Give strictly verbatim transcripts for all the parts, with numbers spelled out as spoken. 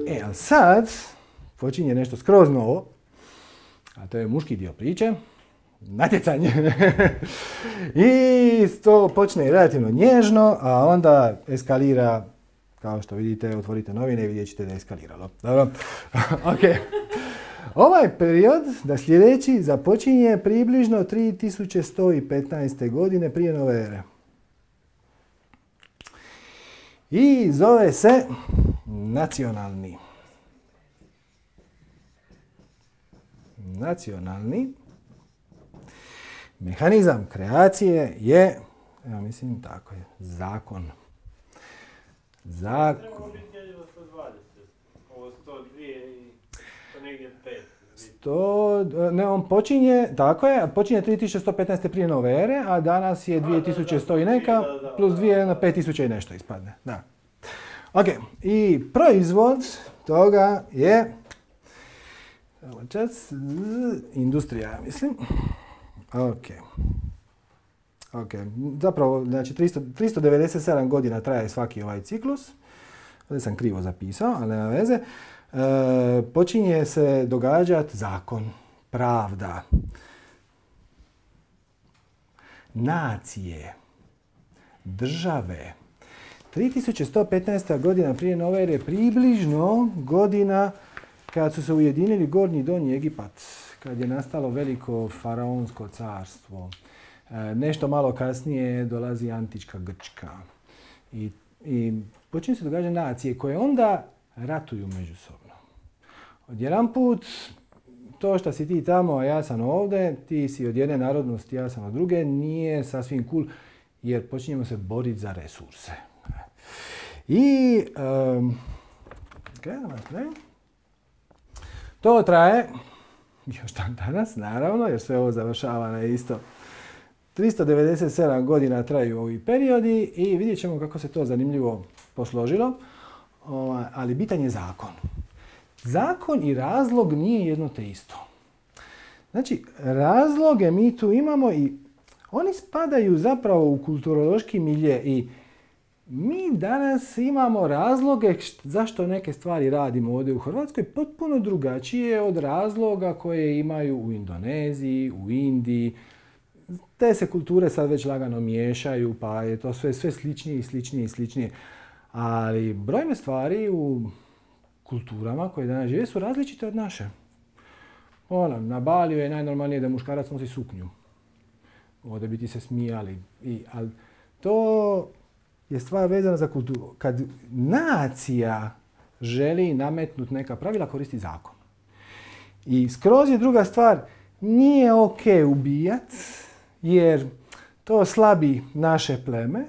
E, ali sad počinje nešto skroz novo, a to je muški dio priče, natjecanje. I to počne relativno nježno, a onda eskalira, kao što vidite, otvorite novine i vidjet ćete da je eskaliralo. Dobro? Ok. Ovaj period, da sljedeći, započinje približno tri tisuće sto petnaeste. godine prije nove ere. I zove se nacionalni. Nacionalni mehanizam kreacije je, ja mislim tako je, zakon. Zakon. Trebamo biti jedino sto dvadeset, ovo sto dvije i to negdje pet. sto, ne, on počinje, tako je, počinje tri tisuće sto petnaeste. prije nove ere, a danas je dvije tisuće sto i neka, plus dvije na pet tisuća i nešto ispadne. Da. Ok, i proizvod toga je čas, industrija, mislim. Ok. Ok, zapravo, znači tristo, tristo devedeset sedam godina traje svaki ovaj ciklus. Ovdje sam krivo zapisao, ali nema veze. E, počinje se događati zakon, pravda, nacije, države. tri tisuće sto petnaesta. godina prije nove ere, približno godina kad su se ujedinili Gornji i Donji Egipat, kad je nastalo veliko faraonsko carstvo. E, nešto malo kasnije dolazi antička Grčka. I, i počinju se događati nacije koje onda ratuju međusobno. Odjedanput, to što si ti tamo, a ja sam ovdje, ti si od jedne narodnosti, ja sam od druge, nije sasvim cool, jer počinjemo se boriti za resurse. I um, okay, to traje još dan danas, naravno, jer sve ovo završava na isto. tristo devedeset sedam godina traju ovi periodi i vidjet ćemo kako se to zanimljivo posložilo, ali bitan je zakon. Zakon i razlog nije jedno te isto. Znači, razloge mi tu imamo i oni spadaju zapravo u kulturološki milje i mi danas imamo razloge zašto neke stvari radimo ovdje u Hrvatskoj potpuno drugačije od razloga koje imaju u Indoneziji, u Indiji. Te se kulture sad već lagano miješaju, pa je to sve, sve sličnije i sličnije i sličnije. Ali brojne stvari u kulturama koje danas žive su različite od naše. Ono, na Baliju je najnormalnije da muškarac nosi suknju. Ovdje bi ti se smijali. I, ali to je stvar vezana za kulturu. Kad nacija želi nametnuti neka pravila, koristi zakon. I skroz je druga stvar, nije ok ubijat, jer to slabi naše pleme,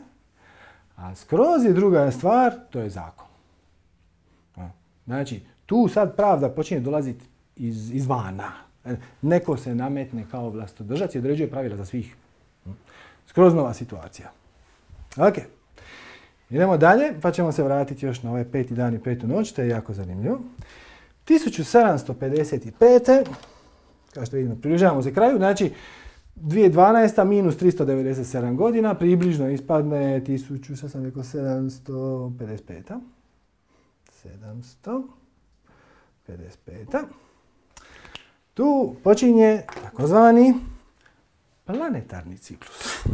a skroz je druga stvar, to je zakon. Znači, tu sad pravda počinje dolaziti iz, izvana. Neko se nametne kao vlastodržac i određuje pravila za svih. Skroz nova situacija. Ok. Idemo dalje, pa ćemo se vratiti još na ovaj peti dan i petu noć, to je jako zanimljivo. tisuću sedamsto pedeset pete. Kao što vidimo, približavamo se kraju, znači dvije tisuće dvanaesta. minus tristo devedeset sedam godina, približno ispadne tisuću, sad sam rekao, sedamsto pedeset pet. sedamsto pedeset pet. Tu počinje takozvani planetarni ciklus.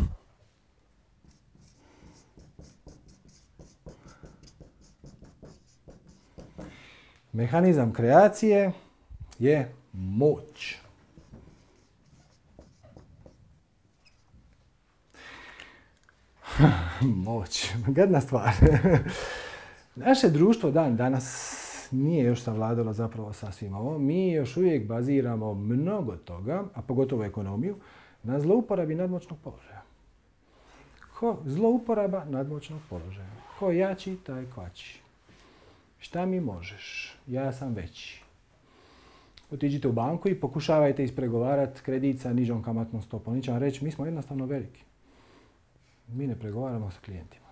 Mehanizam kreacije je moć. Moć, gadna stvar. Naše društvo dan danas nije još savladalo zapravo sasvim ovo. Mi još uvijek baziramo mnogo toga, a pogotovo ekonomiju, na zlouporabi nadmoćnog položaja. Ko zlouporaba nadmoćnog položaja. Ko jači, taj kvači. Šta mi možeš? Ja sam veći. Otiđite u banku i pokušavajte ispregovarati kredit sa nižom kamatnom stopom. Oni će vam reći, mi smo jednostavno veliki. Mi ne pregovaramo sa klijentima.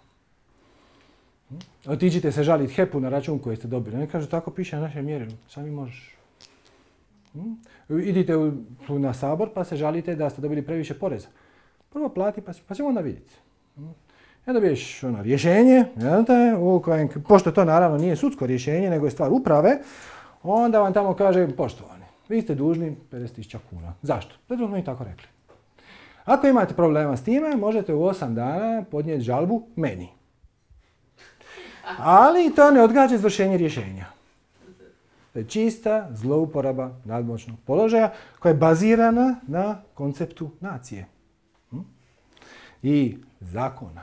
Otiđite se žaliti H E P-u na račun koji ste dobili. Oni kažu, tako piše na našem mjerilu. Šta mi možeš? Idite u, na Sabor pa se žalite da ste dobili previše poreza. Prvo plati pa, pa ćemo onda vidjeti. I dobiješ ono rješenje, jel te, u kojem, pošto to naravno nije sudsko rješenje, nego je stvar uprave, onda vam tamo kaže, poštovani, vi ste dužni pedeset tisuća kuna. Zašto? Zato smo i tako rekli. Ako imate problema s time, možete u osam dana podnijeti žalbu meni. Ali to ne odgađa izvršenje rješenja. To je čista zlouporaba nadmoćnog položaja koja je bazirana na konceptu nacije i zakona.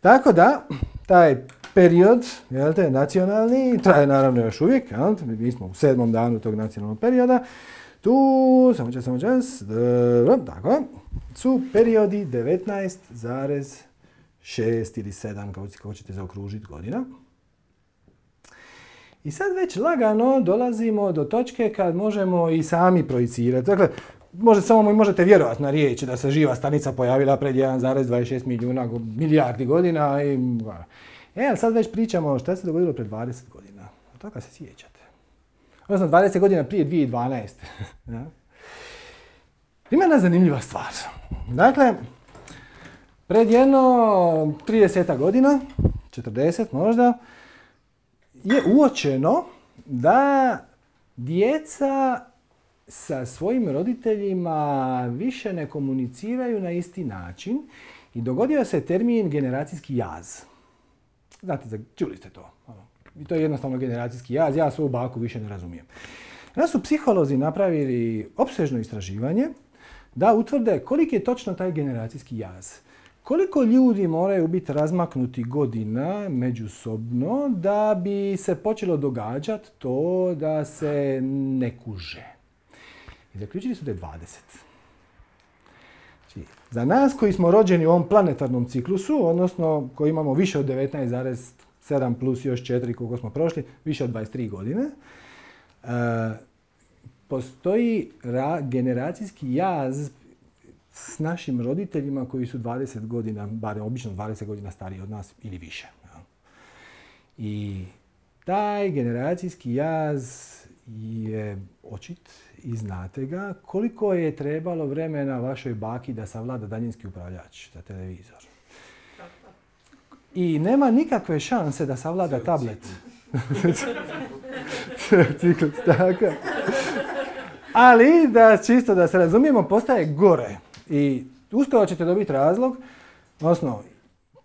Tako da, taj period, jel te, nacionalni, traje naravno još uvijek, jel te, mi smo u sedmom danu tog nacionalnog perioda, tu, samo čas, samo čas, dobro, tako, su periodi devetnaest zarez šest ili sedam, kako ćete zaokružiti godina. I sad već lagano dolazimo do točke kad možemo i sami projicirati. Dakle, možete, samo možete vjerovati na riječ da se živa stanica pojavila pred jedan zarez dvadeset šest milijuna milijardi godina. I, e, ali sad već pričamo šta se dogodilo pred dvadeset godina. Od toga se sjećate. Odnosno dvadeset godina prije dvije tisuće dvanaeste. Ja? Ima jedna zanimljiva stvar. Dakle, pred jedno trideset godina, četrdeset možda, je uočeno da djeca sa svojim roditeljima više ne komuniciraju na isti način i dogodio se termin generacijski jaz. Znate, čuli ste to. I to je jednostavno generacijski jaz, ja svoju baku više ne razumijem. Onda su psiholozi napravili opsežno istraživanje da utvrde koliki je točno taj generacijski jaz. Koliko ljudi moraju biti razmaknuti godina međusobno da bi se počelo događati to da se ne kuže. I zaključili su da je dvadeset. Znači, za nas koji smo rođeni u ovom planetarnom ciklusu, odnosno koji imamo više od devetnaest zarez sedam plus još četiri koliko smo prošli, više od dvadeset tri godine, e, postoji ra- generacijski jaz s našim roditeljima koji su dvadeset godina, barem obično dvadeset godina stariji od nas ili više. I taj generacijski jaz je očit i znate ga koliko je trebalo vremena vašoj baki da savlada daljinski upravljač za televizor. I nema nikakve šanse da savlada tablet. Ciklus, tako. Ali, da čisto da se razumijemo, postaje gore. I uskoro ćete dobiti razlog, odnosno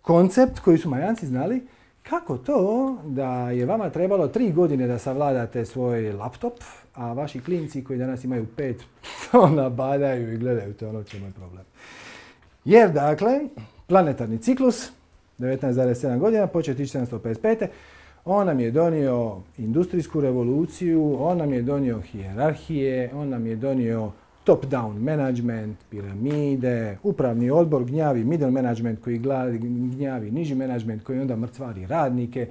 koncept koji su Majanci znali, kako to da je vama trebalo tri godine da savladate svoj laptop, a vaši klinci koji danas imaju pet, onda badaju i gledaju to, ono će moj problem. Jer, dakle, planetarni ciklus, devetnaest zarez sedam godina, počeo tisuću sedamsto pedeset pete. On nam je donio industrijsku revoluciju, on nam je donio hijerarhije, on nam je donio top-down management, piramide, upravni odbor gnjavi middle management koji gnjavi niži management koji onda mrcvari radnike.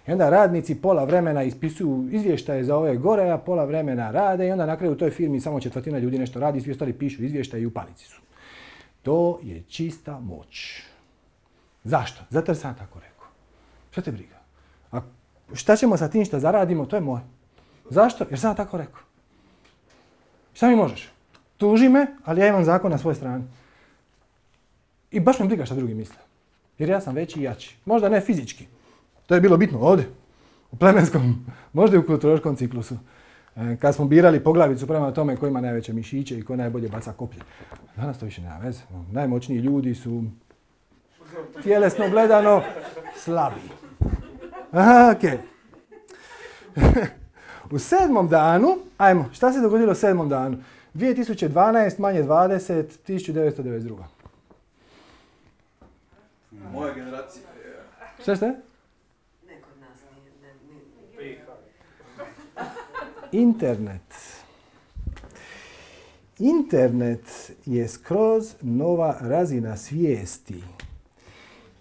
I onda radnici pola vremena ispisuju izvještaje za ove gore, a pola vremena rade i onda na kraju u toj firmi samo četvrtina ljudi nešto radi, svi ostali pišu izvještaje i u panici su. To je čista moć. Zašto? Zato jer sam tako rekao. Šta te briga? A šta ćemo sa tim što zaradimo, to je moje. Zašto? Jer sam tako rekao. Šta mi možeš? Tuži me, ali ja imam zakon na svojoj strani. I baš me briga šta drugi misle. Jer ja sam veći i jači. Možda ne fizički. To je bilo bitno ovdje. U plemenskom, možda i u kulturološkom ciklusu. Kad smo birali poglavicu prema tome ko ima najveće mišiće i ko najbolje baca koplje. Danas to više nema veze. Najmoćniji ljudi su tjelesno gledano slabi. Aha, okej. Okay. U sedmom danu, ajmo, šta se dogodilo u sedmom danu? dvije tisuće dvanaest manje dvadeset, tisuću devetsto devedeset dva. Moja generacija je... Šta ste? Ne kod nas nije. Internet. Internet je skroz nova razina svijesti,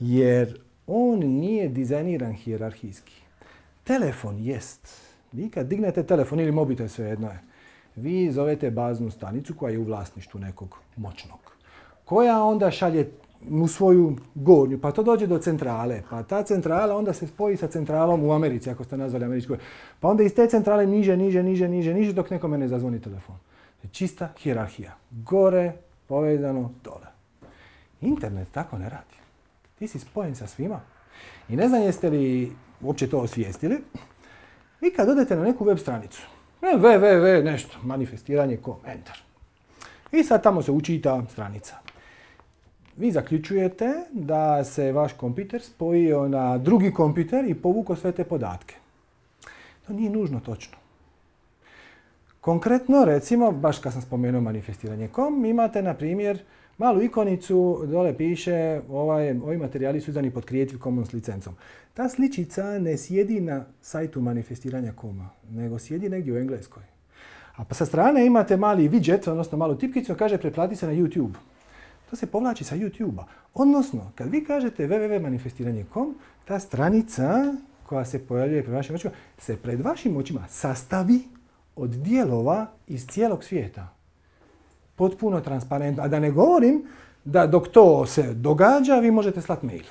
jer on nije dizajniran hijerarhijski. Telefon jest. Vi kad dignete telefon ili mobitel, svejedno je, vi zovete baznu stanicu koja je u vlasništvu nekog moćnog, koja onda šalje u svoju gornju, pa to dođe do centrale, pa ta centrala onda se spoji sa centralom u Americi, ako ste nazvali američkoj, pa onda iz te centrale niže, niže, niže, niže, niže, dok nekome ne zazvoni telefon. Čista hijerarhija. Gore, povezano, dole. Internet tako ne radi. Ti si spojen sa svima. I ne znam jeste li uopće to osvijestili. Vi kad odete na neku web stranicu, www nešto, manifestiranje kom, enter. I sad tamo se učita stranica. Vi zaključujete da se vaš kompjuter spojio na drugi kompjuter i povukao sve te podatke. To nije nužno točno. Konkretno, recimo, baš kad sam spomenuo manifestiranje kom, imate, na primjer, malu ikonicu, dole piše ovaj, ovi materijali su izdani pod Creative Commons licencom. Ta sličica ne sjedi na sajtu manifestiranja koma, nego sjedi negdje u Engleskoj. A pa sa strane imate mali widget, odnosno malu tipkicu, kaže pretplati se na YouTube. To se povlači sa YouTube-a. Odnosno, kad vi kažete www manifestiranje kom, ta stranica koja se pojavljuje pred vašim očima, se pred vašim očima sastavi od dijelova iz cijelog svijeta. Potpuno transparentno. A da ne govorim da dok to se događa, vi možete slati mail.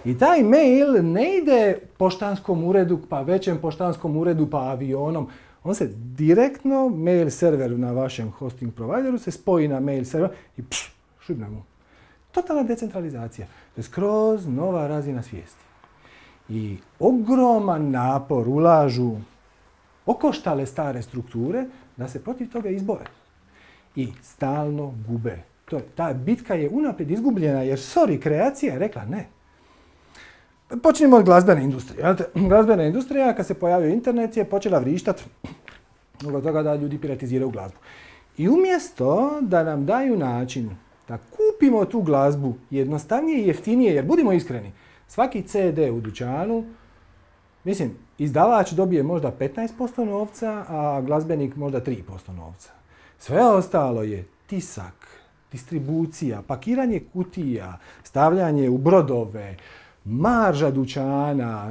I taj mail ne ide poštanskom uredu, pa većem poštanskom uredu, pa avionom. On se direktno, mail server na vašem hosting provideru se spoji na mail server i pš, šibne mu. Totalna decentralizacija. To je skroz nova razina svijesti. I ogroman napor ulažu okoštale stare strukture da se protiv toga izbore. I stalno gube. To je, ta bitka je unaprijed izgubljena jer, sorry, kreacija je rekla ne. Počnimo od glazbene industrije. Glazbena industrija, kad se pojavio internet, je počela vrištat zbog toga da ljudi piratiziraju glazbu. I umjesto da nam daju način da kupimo tu glazbu jednostavnije i jeftinije, jer budimo iskreni, svaki ce de u dućanu, mislim, izdavač dobije možda petnaest posto novca, a glazbenik možda tri posto novca. Sve ostalo je tisak, distribucija, pakiranje kutija, stavljanje u brodove, marža dućana.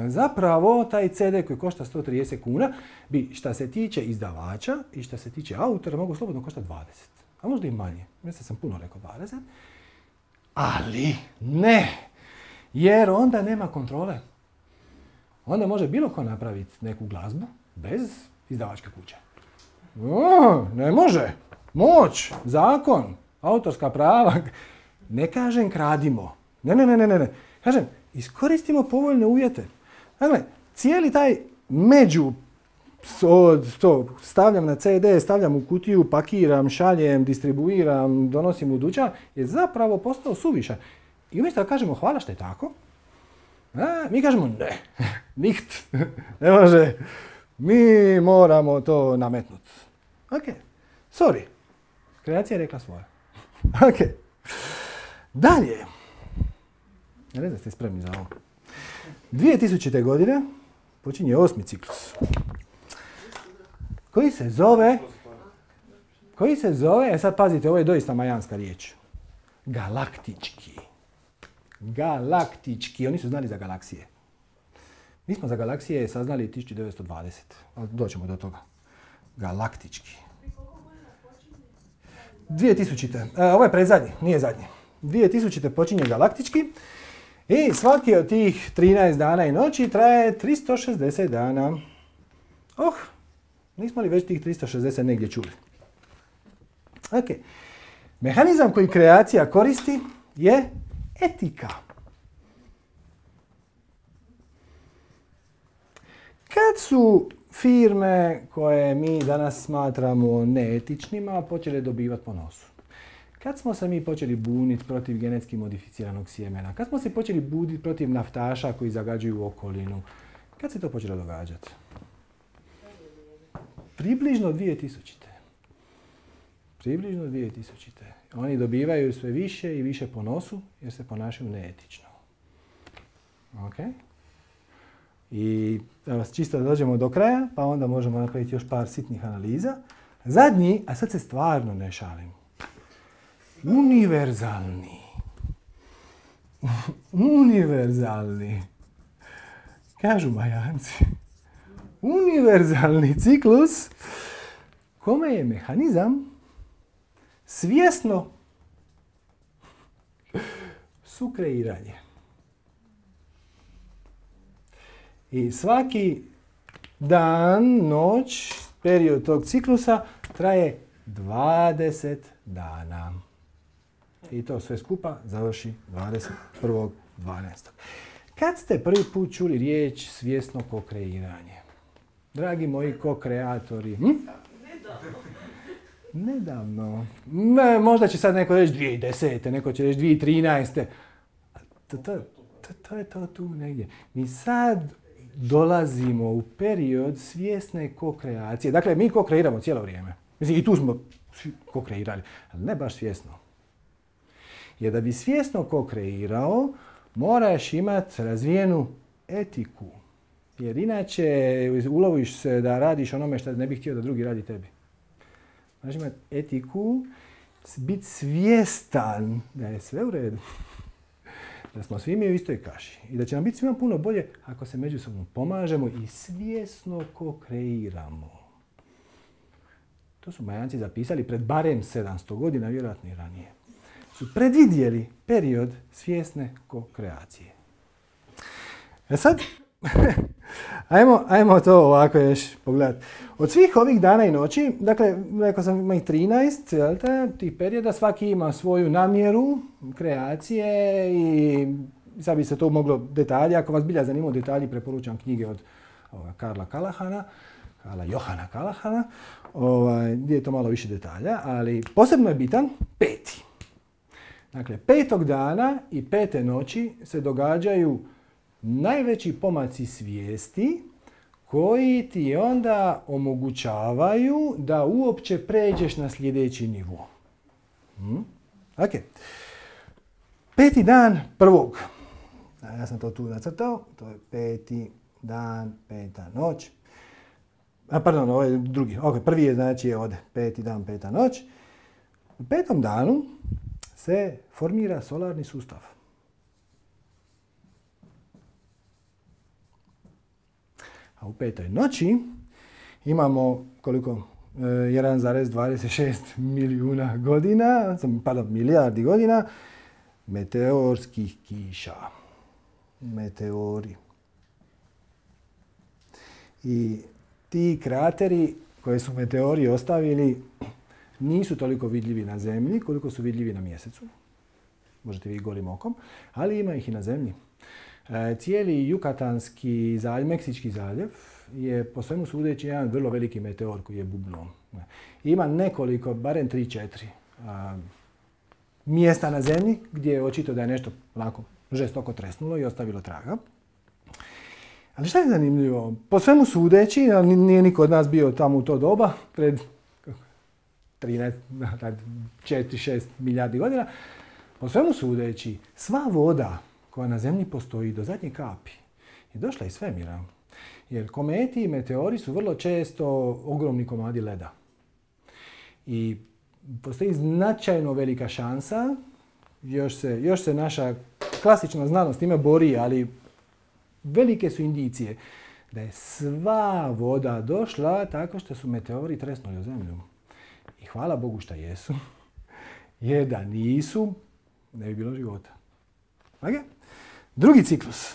Zapravo, taj ce de koji košta sto trideset kuna bi, šta se tiče izdavača i šta se tiče autora, mogu slobodno koštati dvadeset. A možda i manje. Mislim sam puno rekao dvadeset. Ali ne. Jer onda nema kontrole. Onda može bilo ko napraviti neku glazbu bez izdavačke kuće. O, ne može. Moć, zakon, autorska prava. Ne kažem kradimo. Ne, ne, ne, ne, ne. Kažem, iskoristimo povoljne uvjete. Dakle, cijeli taj među od to stavljam na ce de, stavljam u kutiju, pakiram, šaljem, distribuiram, donosim u dućan, je zapravo postao suvišan. I umjesto da kažemo hvala što je tako, a, mi kažemo ne, niht, ne može, mi moramo to nametnuti. Ok, sorry, kreacija je rekla svoje. Ok, dalje. Ja ne znam ste spremni za ovo. dvije tisućite. godine počinje osmi ciklus. Koji se zove, koji se zove, e sad pazite, ovo je doista majanska riječ. Galaktički. Galaktički. Oni su znali za galaksije. Mi smo za galaksije saznali tisuću devetsto dvadesete. Ali doćemo do toga. Galaktički. dvije tisućite. E, ovo je predzadnji, nije zadnji. dvije tisućite. počinje galaktički. I svaki od tih trinaest dana i noći traje tristo šezdeset dana. Oh, nismo li već tih tristo šezdeset negdje čuli? Ok. Mehanizam koji kreacija koristi je etika. Kad su firme koje mi danas smatramo neetičnima počele dobivati po nosu? Kad smo se mi počeli buniti protiv genetski modificiranog sjemena? Kad smo se počeli buniti protiv naftaša koji zagađuju okolinu? Kad se to počelo događati? Približno dvije tisućite. Približno dvije tisućite. Oni dobivaju sve više i više po nosu jer se ponašaju neetično. Ok? I evo, čisto da dođemo do kraja, pa onda možemo napraviti još par sitnih analiza. Zadnji, a sad se stvarno ne šalim. Univerzalni. Univerzalni. Kažu Majanci. Univerzalni ciklus kome je mehanizam svjesno sukreiranje. I svaki dan, noć, period tog ciklusa traje dvadeset dana. I to sve skupa završi dvadeset prvog dvanaestog Kad ste prvi put čuli riječ svjesno kokreiranje? Dragi moji kokreatori, hm? Nedavno. Ne, možda će sad neko reći dvije tisuće desete neko će reći dvije tisuće trinaeste To, to, to, to je to tu negdje. Mi sad dolazimo u period svjesne kokreacije. Dakle, mi kokreiramo cijelo vrijeme. Mislim, i tu smo kokreirali, ali ne baš svjesno. Jer da bi svjesno kokreirao, moraš imati razvijenu etiku. Jer inače uloviš se da radiš onome što ne bih htio da drugi radi tebi. Moraš imati etiku, biti svjestan da je sve u redu. Da smo svi mi u istoj kaši. I da će nam biti svima puno bolje ako se međusobno pomažemo i svjesno kokreiramo. To su Majanci zapisali pred barem sedamsto godina, vjerojatno i ranije. Su predvidjeli period svjesne kokreacije. E sad, ajmo, ajmo to ovako još pogledati. Od svih ovih dana i noći, dakle, rekao sam ima ih trinaest, jel te, tih perioda, svaki ima svoju namjeru kreacije i sad bi se to moglo detalje. Ako vas bilja zanimaju detalji, preporučam knjige od ovoga, Karla Kalahana, Karla Johana Kalahana, ovaj, gdje je to malo više detalja, ali posebno je bitan peti. Dakle, petog dana i pete noći se događaju najveći pomaci svijesti koji ti onda omogućavaju da uopće pređeš na sljedeći nivo. Hmm? Ok. Peti dan prvog. Ja sam to tu nacrtao. To je peti dan, peta noć. A, pardon, ovo je drugi. Ok, prvi je znači je ovdje. Peti dan, peta noć. U petom danu se formira solarni sustav. A u petoj noći imamo koliko? jedan zarez dvadeset šest milijuna godina, pardon, milijardi godina meteorskih kiša. Meteori. I ti krateri koje su meteori ostavili nisu toliko vidljivi na Zemlji koliko su vidljivi na Mjesecu. Možete vidjeti golim okom, ali ima ih i na Zemlji. E, cijeli Jukatanski zaljev, Meksički zaljev je po svemu sudeći jedan vrlo veliki meteor koji je bubnuo. Ima nekoliko, barem tri četiri mjesta na Zemlji gdje je očito da je nešto onako žestoko tresnulo i ostavilo traga. Ali šta je zanimljivo? Po svemu sudeći, nije niko od nas bio tamo u to doba, pred trinaest, četiri šest milijardi godina, po svemu sudeći, sva voda koja na Zemlji postoji do zadnje kapi je došla iz svemira. Jer kometi i meteori su vrlo često ogromni komadi leda. I postoji značajno velika šansa, još se, još se naša klasična znanost time bori, ali velike su indicije da je sva voda došla tako što su meteori tresnuli u Zemlju. I hvala Bogu što jesu, jer da nisu, ne bi bilo života. Okay? Drugi ciklus.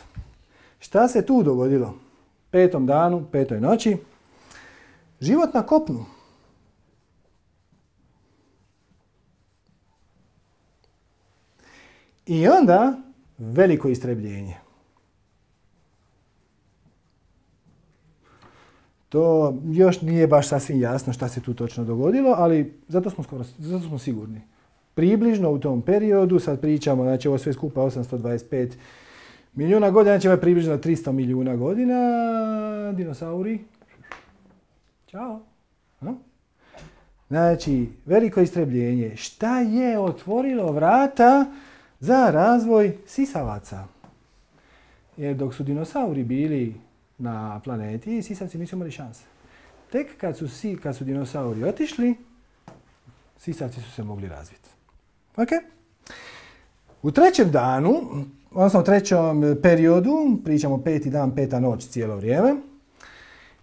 Šta se tu dogodilo? Petom danu, petoj noći. Život na kopnu. I onda veliko istrebljenje. To još nije baš sasvim jasno šta se tu točno dogodilo, ali zato smo, skoro, zato smo sigurni. Približno u tom periodu, sad pričamo, znači ovo sve skupa osamsto dvadeset pet milijuna godina, znači ovo je približno tristo milijuna godina, dinosauri. Ćao. Ha? Znači, veliko istrebljenje. Šta je otvorilo vrata za razvoj sisavaca? Jer dok su dinosauri bili na planeti, sisavci nisu imali šanse. Tek kad su, si, kad su dinosauri otišli, sisavci su se mogli razviti. Okay. U trećem danu, odnosno u trećem periodu, pričamo peti dan, peta noć cijelo vrijeme,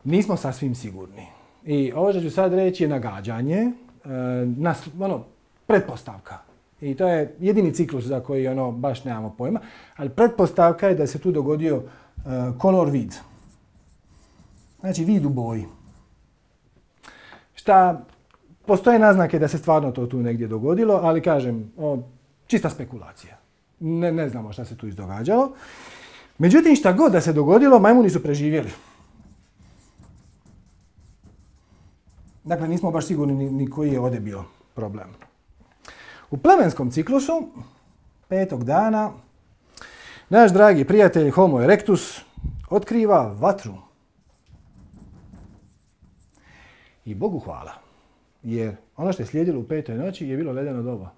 nismo sasvim sigurni. I ovo što ću sad reći je nagađanje, nas, ono, pretpostavka. I to je jedini ciklus za koji ono, baš nemamo pojma, ali pretpostavka je da se tu dogodio uh, color vid. Znači vid u boji. Šta, postoje naznake da se stvarno to tu negdje dogodilo, ali kažem, o, čista spekulacija. Ne, ne znamo šta se tu izdogađalo. Međutim, šta god da se dogodilo, majmuni su preživjeli. Dakle, nismo baš sigurni ni, ni koji je ovdje bio problem. U plemenskom ciklusu, petog dana, naš dragi prijatelj Homo erectus otkriva vatru. I Bogu hvala, jer ono što je slijedilo u petoj noći je bilo ledeno doba.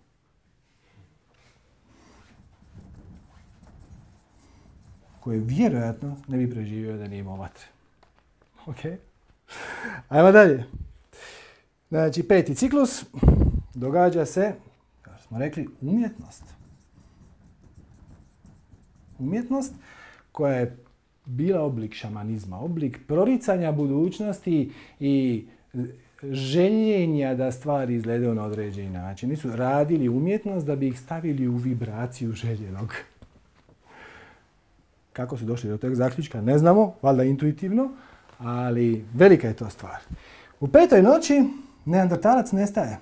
Koje vjerojatno ne bi preživio da nije imao vatre. Ok? Ajmo dalje. Znači, peti ciklus događa se, kao smo rekli, umjetnost. Umjetnost koja je bila oblik šamanizma, oblik proricanja budućnosti i željenja da stvari izgledaju na određeni način. Nisu radili umjetnost da bi ih stavili u vibraciju željenog. Kako su došli do tog zaključka, ne znamo, valjda intuitivno, ali velika je to stvar. U petoj noći neandertalac nestaje.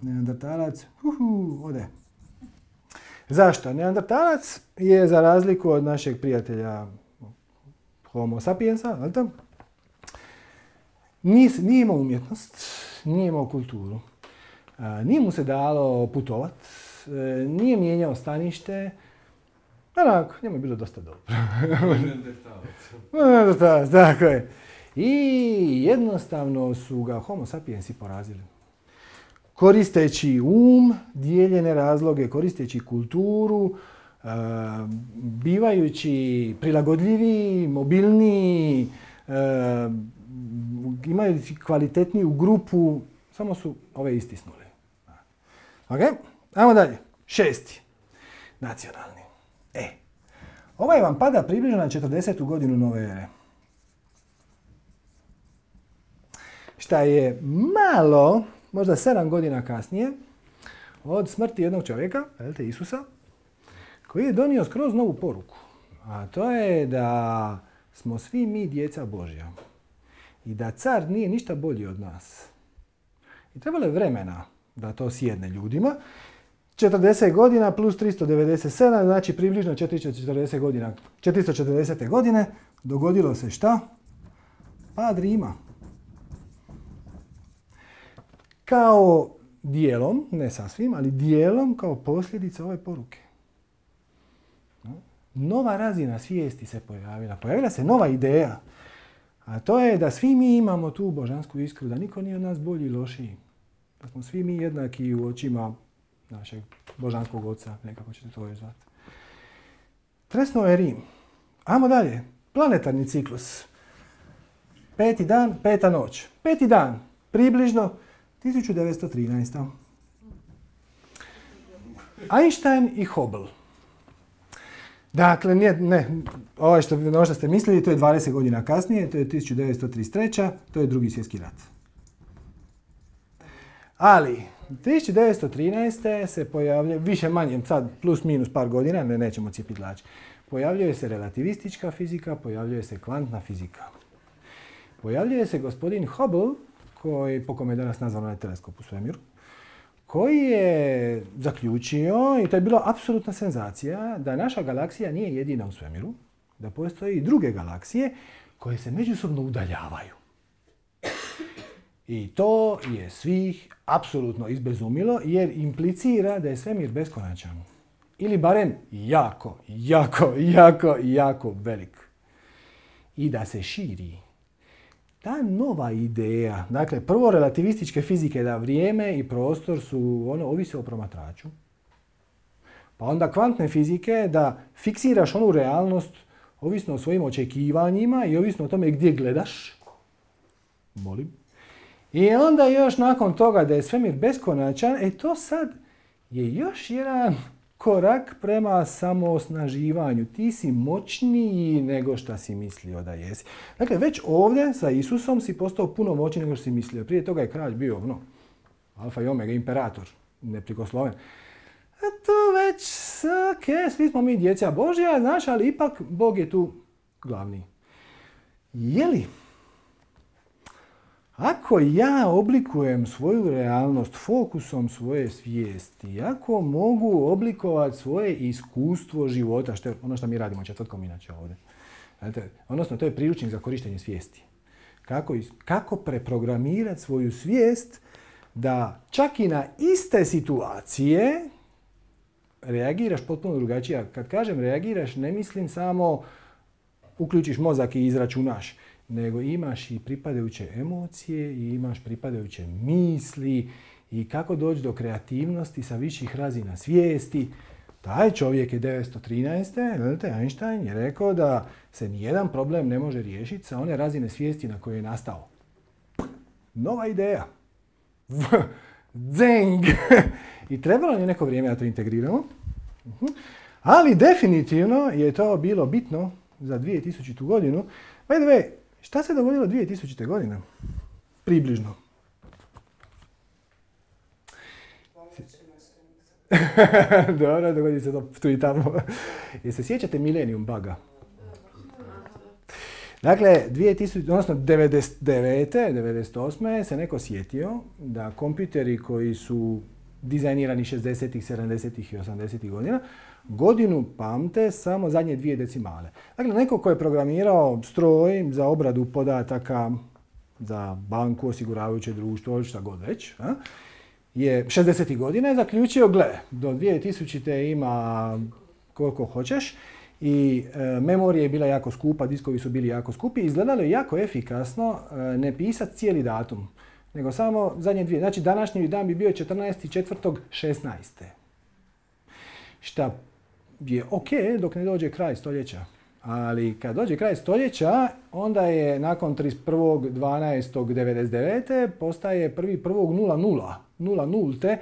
Neandertalac, uhu, ode. Zašto? Neandertalac je, za razliku od našeg prijatelja Homo sapiensa, nije, nije imao umjetnost, nije imao kulturu, nije mu se dalo putovat, nije mijenjao stanište. Onako, njemu je bilo dosta dobro. Neandertalac, tako je. I jednostavno su ga Homo sapiensi porazili. Koristeći um, dijeljene razloge, koristeći kulturu, bivajući prilagodljiviji, mobilniji, imajući kvalitetniju grupu, samo su ove istisnuli. Ok, ajmo dalje. Šesti. Nacionalni. E, ovaj vam pada približno na četrdesetu godinu nove ere. Šta je malo, možda sedam godina kasnije, od smrti jednog čovjeka, velte Isusa, koji je donio skroz novu poruku. A to je da smo svi mi djeca Božja. I da car nije ništa bolji od nas. I trebalo je vremena da to sjedne ljudima. četrdeset godina plus tristo devedeset sedam, znači približno četiristo četrdeset godina, četiristo četrdeset. godine dogodilo se šta? Pad Rima. Kao dijelom, ne sasvim, ali dijelom kao posljedica ove poruke. Nova razina svijesti se pojavila. Pojavila se nova ideja. A to je da svi mi imamo tu božansku iskru, da niko nije od nas bolji i lošiji. Da smo svi mi jednaki u očima našeg božanskog oca, nekako ćete to još zvati. Tresnuo je Rim. Ajmo dalje. Planetarni ciklus. Peti dan, peta noć. Peti dan, približno tisuću devetsto trinaesta. Einstein i Hubble. Dakle, ne, ne ovo što, ono što ste mislili, to je dvadeset godina kasnije, to je tisuću devetsto trideset treća. To je drugi svjetski rat. Ali, tisuću devetsto trinaeste. se pojavlja, više manje, sad plus minus par godina, ne, nećemo cijepiti lač. Pojavljuje se relativistička fizika, pojavljuje se kvantna fizika. Pojavljuje se gospodin Hubble, koji, po kome je danas nazvan onaj teleskop u svemiru, koji je zaključio, i to je bila apsolutna senzacija, da naša galaksija nije jedina u svemiru, da postoje i druge galaksije koje se međusobno udaljavaju. I to je svih apsolutno izbezumilo jer implicira da je svemir beskonačan. Ili barem jako, jako, jako, jako velik. I da se širi. Ta nova ideja, dakle prvo relativističke fizike da vrijeme i prostor su, ono, ovise o promatraču. Pa onda kvantne fizike da fiksiraš onu realnost ovisno o svojim očekivanjima i ovisno o tome gdje gledaš. Molim. I onda još nakon toga da je svemir beskonačan, e to sad je još jedan korak prema samoosnaživanju. Ti si moćniji nego što si mislio da jesi. Dakle, već ovdje sa Isusom si postao puno moćniji nego što si mislio. Prije toga je kralj bio, no, alfa i omega, imperator, neprikosloven. A to već, ok, svi smo mi djeca Božja, znaš, ali ipak Bog je tu glavni. Je li? Ako ja oblikujem svoju realnost fokusom svoje svijesti, ako mogu oblikovati svoje iskustvo života, što je ono što mi radimo četvrtkom inače ovdje. Znate, odnosno, to je priručnik za korištenje svijesti. Kako, kako preprogramirati svoju svijest da čak i na iste situacije reagiraš potpuno drugačije. Kad kažem reagiraš, ne mislim samo uključiš mozak i izračunaš, nego imaš i pripadajuće emocije i imaš pripadajuće misli i kako doći do kreativnosti sa viših razina svijesti. Taj čovjek je devetsto trinaeste. Gledajte, Einstein je rekao da se nijedan problem ne može riješiti sa one razine svijesti na koje je nastao. Nova ideja. Zeng! I trebalo je neko vrijeme da to integriramo. Ali definitivno je to bilo bitno za dvije tisućite. godinu. By the way, šta se dogodilo dvije tisućite. godine? Približno. Dobro, dogodi se to tu i tamo. Jel se sjećate Millennium buga? Dakle, dvije tisuće, odnosno devedeset devete. devedeset osme. se neko sjetio da kompjuteri koji su dizajnirani šezdesetih, sedamdesetih i osamdesetih godina godinu pamte samo zadnje dvije decimale. Dakle, neko ko je programirao stroj za obradu podataka za banku, osiguravajuće društvo, šta god već, a, je šezdesetih godina je zaključio, gle, do dvije tisućite. ima koliko hoćeš i e, memorija je bila jako skupa, diskovi su bili jako skupi i izgledalo je jako efikasno e, ne pisati cijeli datum, nego samo zadnje dvije. Znači, današnji dan bi bio četrnaesti četvrtog šesnaeste. Šta je ok dok ne dođe kraj stoljeća. Ali kad dođe kraj stoljeća, onda je nakon trideset prvog dvanaestog devedeset devete. postaje prvi prvog nula nula. nula nulte.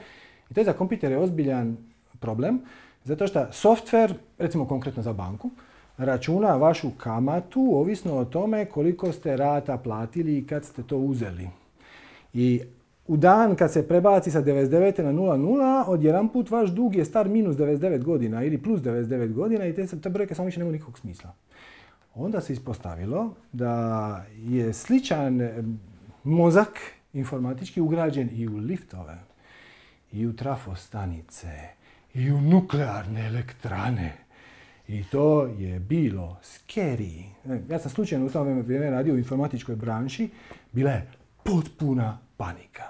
I to je za kompjutere ozbiljan problem. Zato što softver, recimo konkretno za banku, računa vašu kamatu ovisno o tome koliko ste rata platili i kad ste to uzeli. I u dan kad se prebaci sa devedeset devete na nula nula, odjedanput vaš dug je star minus devedeset devet godina ili plus devedeset devet godina i te, te brojke samo više nemaju nikakvog smisla. Onda se ispostavilo da je sličan mozak informatički ugrađen i u liftove, i u trafostanice, i u nuklearne elektrane. I to je bilo scary. Ja sam slučajno u tom vrijeme radio u informatičkoj branši. Bila je potpuna panika.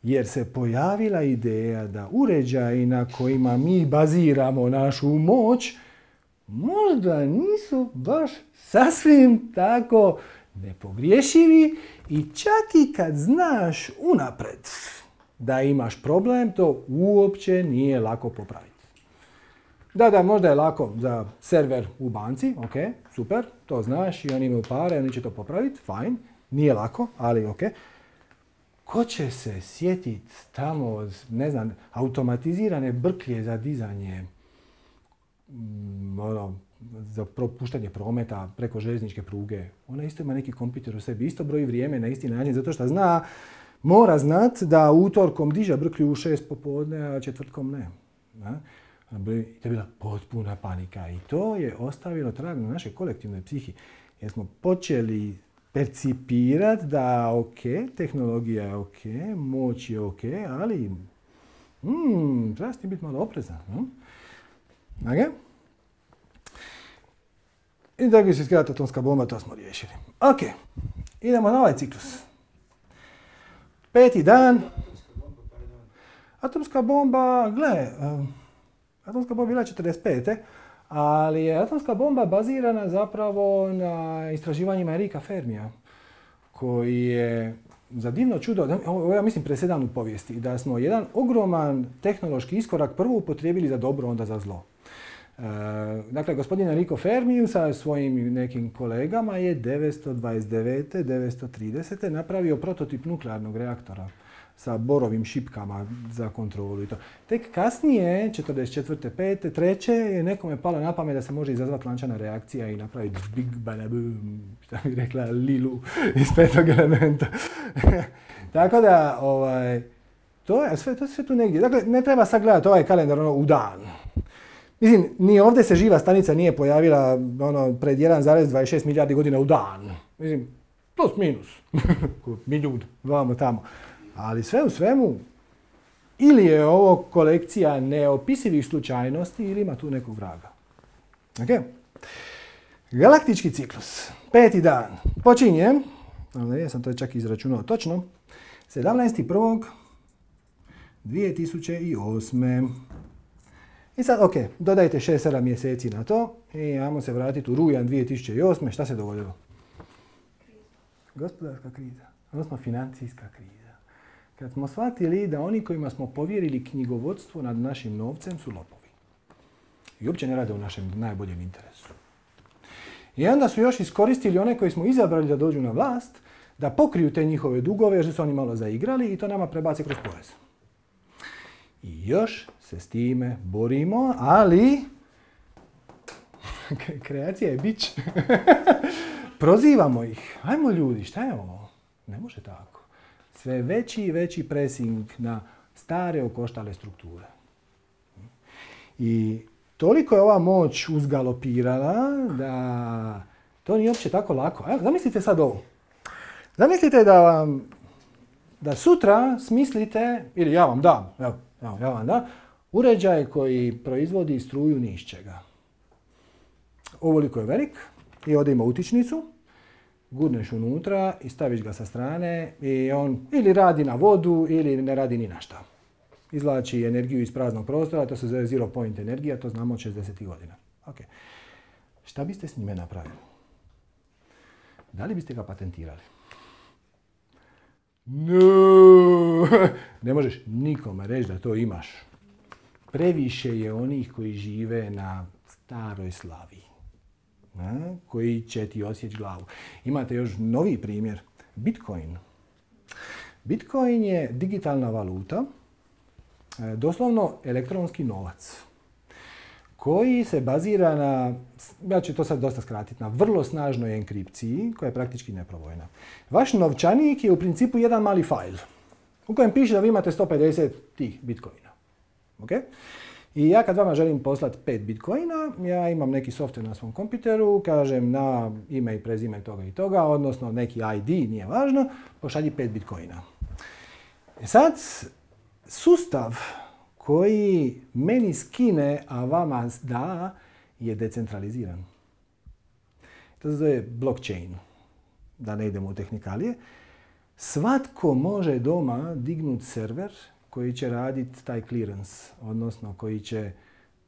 Jer se pojavila ideja da uređaji na kojima mi baziramo našu moć možda nisu baš sasvim tako nepogriješivi i čak i kad znaš unapred da imaš problem, to uopće nije lako popraviti. Da, da, možda je lako za server u banci, ok, super, to znaš i oni imaju pare, oni će to popraviti, fajn, nije lako, ali ok. Ko će se sjetiti tamo, ne znam, automatizirane brklje za dizanje, mm, ono, za propuštanje prometa preko željezničke pruge. Ona isto ima neki kompjuter u sebi, isto broji vrijeme na isti način, zato što zna, mora znat da utorkom diže brklju u šest popodne, a četvrtkom ne. Da? To je bila potpuna panika i to je ostavilo trag na našoj kolektivnoj psihi. Jer smo počeli percipirati da ok, tehnologija je ok, moć je ok, ali mm, treba s tim biti malo oprezan. Hm? Okay? I dakle, svjetska atomska bomba, to smo riješili. Ok, idemo na ovaj ciklus. Peti dan. Atomska bomba, gle, um, atomska bomba bila četrdeset pete. Ali je atomska bomba bazirana zapravo na istraživanjima Erika Fermija, koji je za divno čudo, ovo ja mislim presedan u povijesti, da smo jedan ogroman tehnološki iskorak prvo upotrijebili za dobro, onda za zlo. E, dakle, gospodin Enrico Fermi sa svojim nekim kolegama je devetsto dvadeset devete devetsto tridesete napravio prototip nuklearnog reaktora sa borovim šipkama za kontrolu i to. Tek kasnije, četrdeset četvrte pete treće je nekome palo na pamet da se može izazvati lančana reakcija i napraviti big balabum, šta bi rekla Lilu iz petog elementa. Tako da, ovaj, to je sve, to je sve tu negdje. Dakle, ne treba sad gledati ovaj kalendar ono, u dan. Mislim, ni ovdje se živa stanica nije pojavila ono, pred jedan zarez dvadeset šest milijardi godina u dan. Mislim, Plus minus. Milijun, vamo tamo. Ali sve u svemu, ili je ovo kolekcija neopisivih slučajnosti, ili ima tu nekog vraga. Ok? Galaktički ciklus. Peti dan. Počinje, ali ja sam to čak izračunao točno, sedamnaesti prvog dvije tisuće osme. I sad, ok, dodajte šest sedam mjeseci na to i ajmo se vratiti u rujan dvije tisuće osme. Šta se dogodilo? Gospodarska kriza, odnosno financijska kriza. Kad smo shvatili da oni kojima smo povjerili knjigovodstvo nad našim novcem su lopovi. I uopće ne rade u našem najboljem interesu. I onda su još iskoristili one koji smo izabrali da dođu na vlast, da pokriju te njihove dugove jer su oni malo zaigrali i to nama prebace kroz porez. I još se s time borimo, ali kreacija je bić. Prozivamo ih. Ajmo ljudi, šta je ovo? Ne može tako. Sve veći i veći pressing na stare okoštale strukture. I toliko je ova moć uzgalopirala da to nije uopće tako lako. Evo, zamislite sad ovo. Zamislite da vam, da sutra smislite, ili ja vam dam, evo, evo, ja vam dam, uređaj koji proizvodi struju ni iz čega. Ovoliko je velik i ovdje ima utičnicu, gurneš unutra i staviš ga sa strane i on ili radi na vodu ili ne radi ni na šta. Izvlači energiju iz praznog prostora, to se zove zero point energija, to znamo od šezdesetih godina. Okay. Šta biste s njime napravili? Da li biste ga patentirali? No! Ne možeš nikome reći da to imaš. Previše je onih koji žive na staroj slavi. Ne? Koji će ti osjeći glavu. Imate još novi primjer. Bitcoin. Bitcoin je digitalna valuta, doslovno elektronski novac, koji se bazira na, ja ću to sad dosta skratiti, na vrlo snažnoj enkripciji koja je praktički neprobojna. Vaš novčanik je u principu jedan mali fajl u kojem piše da vi imate sto pedeset tih bitcoina. Okay? I ja kad vama želim poslati pet bitcoina, ja imam neki software na svom kompjuteru, kažem na ime i prezime toga i toga, odnosno neki I D, nije važno, pošalji pet bitcoina. E sad, sustav koji meni skine, a vama da, je decentraliziran. To se zove blockchain, da ne idemo u tehnikalije. Svatko može doma dignuti server koji će raditi taj clearance, odnosno koji će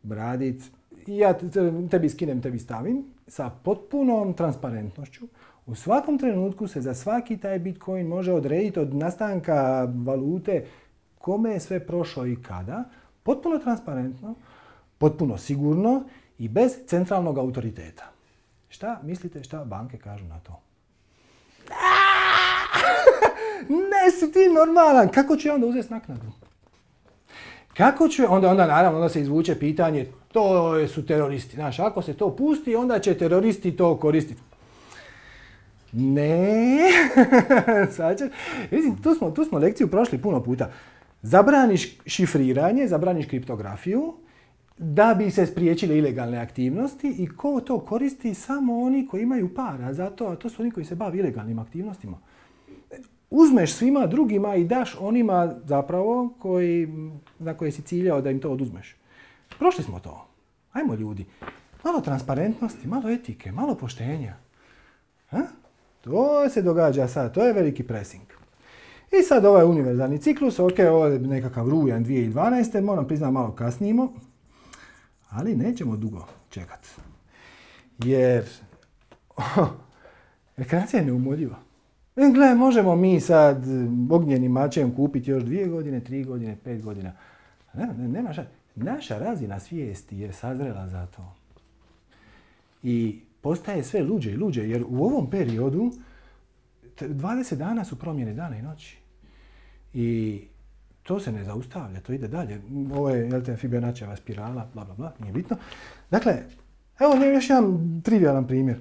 raditi, ja tebi skinem, tebi stavim, sa potpunom transparentnošću. U svakom trenutku se za svaki taj bitcoin može odrediti od nastanka valute kome je sve prošao i kada, potpuno transparentno, potpuno sigurno i bez centralnog autoriteta. Šta mislite šta banke kažu na to? Ne si ti normalan, kako ću ja onda uzeti naknadu? Kako ću, onda, onda naravno onda se izvuče pitanje, to su teroristi. Znaš, ako se to pusti, onda će teroristi to koristiti. Ne, sad će, mislim, tu smo, tu smo lekciju prošli puno puta. Zabraniš šifriranje, zabraniš kriptografiju, da bi se spriječile ilegalne aktivnosti i ko to koristi? Samo oni koji imaju para za to, a to su oni koji se bave ilegalnim aktivnostima. Uzmeš svima drugima i daš onima zapravo koji, na koje si ciljao da im to oduzmeš. Prošli smo to. Ajmo ljudi. Malo transparentnosti, malo etike, malo poštenja. Ha? To se događa sad, to je veliki pressing. I sad ovaj univerzalni ciklus, ok, ovo je nekakav rujan dvije tisuće dvanaeste. Moram priznati malo kasnimo, ali nećemo dugo čekati. Jer oh, rekreacija je neumoljiva. Gle, možemo mi sad ognjenim mačem kupiti još dvije godine, tri godine, pet godina. Ne, ne, nema šta. Naša razina svijesti je sazrela za to. I postaje sve luđe i luđe, jer u ovom periodu dvadeset dana su promjene dana i noći. I to se ne zaustavlja, to ide dalje. Ovo je, jel te, Fibonacciova spirala, bla, bla, bla, nije bitno. Dakle, evo još jedan trivialan primjer.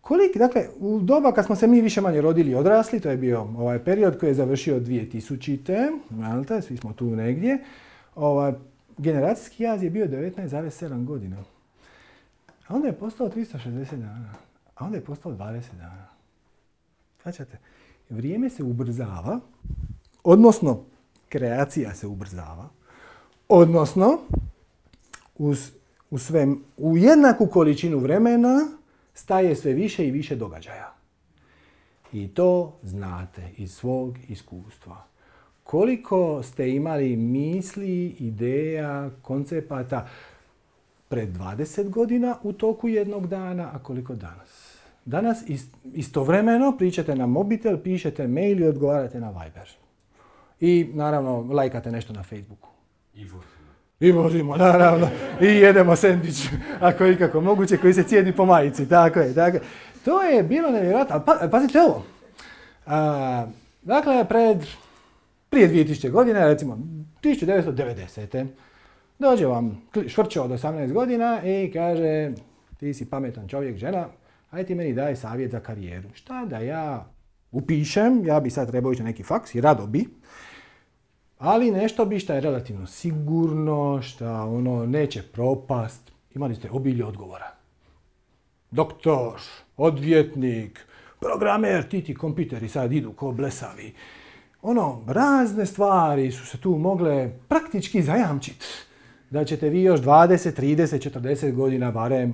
Koliki, dakle, u doba kad smo se mi više manje rodili i odrasli, to je bio ovaj period koji je završio dvije tisućite. Jel te, svi smo tu negdje. Ovaj, generacijski jaz je bio devetnaest zarez sedam godina. A onda je postao tristo šezdeset dana. A onda je postao dvadeset dana. Shvaćate? Vrijeme se ubrzava, odnosno kreacija se ubrzava, odnosno uz, u, sve, u jednaku količinu vremena staje sve više i više događaja. I to znate iz svog iskustva. Koliko ste imali misli, ideja, koncepata pred dvadeset godina u toku jednog dana, a koliko danas? Danas istovremeno pričate na mobitel, pišete mail i odgovarate na Viber. I naravno lajkate nešto na Facebooku. I vozimo. I vozimo, naravno. I jedemo sendvič, ako je ikako moguće, koji se cijedi po majici. Tako je, tako je. To je bilo nevjerojatno. Pa, pazite ovo. A, dakle, pred, prije dvije tisuće godina, recimo tisuću devetsto devedesete. dođe vam švrćo od osamnaest godina i kaže ti si pametan čovjek, žena, ajde ti meni daj savjet za karijeru. Šta da ja upišem, ja bi sad trebao ići na neki faks i rado bi, ali nešto bi šta je relativno sigurno, šta ono neće propast. Imali ste obilje odgovora. Doktor, odvjetnik, programer, ti ti kompjuteri sad idu ko blesavi. Ono, razne stvari su se tu mogle praktički zajamčiti. Da ćete vi još dvadeset, trideset, četrdeset godina barem.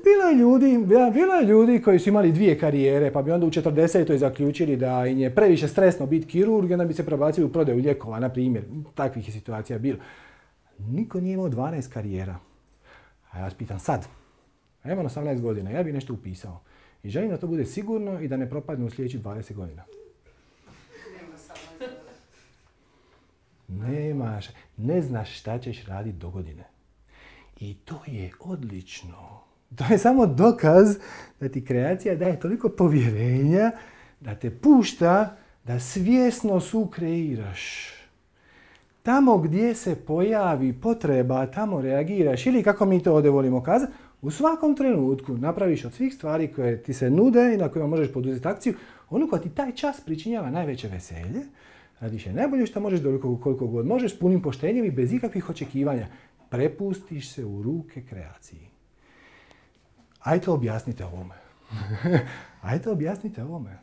Bilo je ljudi, bilo je ljudi koji su imali dvije karijere, pa bi onda u četrdesetoj zaključili da im je previše stresno biti kirurg, onda bi se prebacili u prodaju lijekova, na primjer. Takvih je situacija bilo. Niko nije imao dvanaest karijera. A ja vas pitam sad, a imam osamnaest godina, ja bih nešto upisao. I želim da to bude sigurno i da ne propadne u sljedećih dvadeset godina. Nemaš, ne znaš šta ćeš raditi do godine. I to je odlično. To je samo dokaz da ti kreacija daje toliko povjerenja da te pušta da svjesno sukreiraš. Tamo gdje se pojavi potreba, tamo reagiraš. Ili kako mi to ovdje volimo kazati, u svakom trenutku napraviš od svih stvari koje ti se nude i na kojima možeš poduzeti akciju, ono koja ti taj čas pričinjava najveće veselje, radiš je najbolje što možeš doliko koliko god možeš, s punim poštenjem i bez ikakvih očekivanja. Prepustiš se u ruke kreaciji. Ajde objasnite ovome. Ajde objasnite ovome.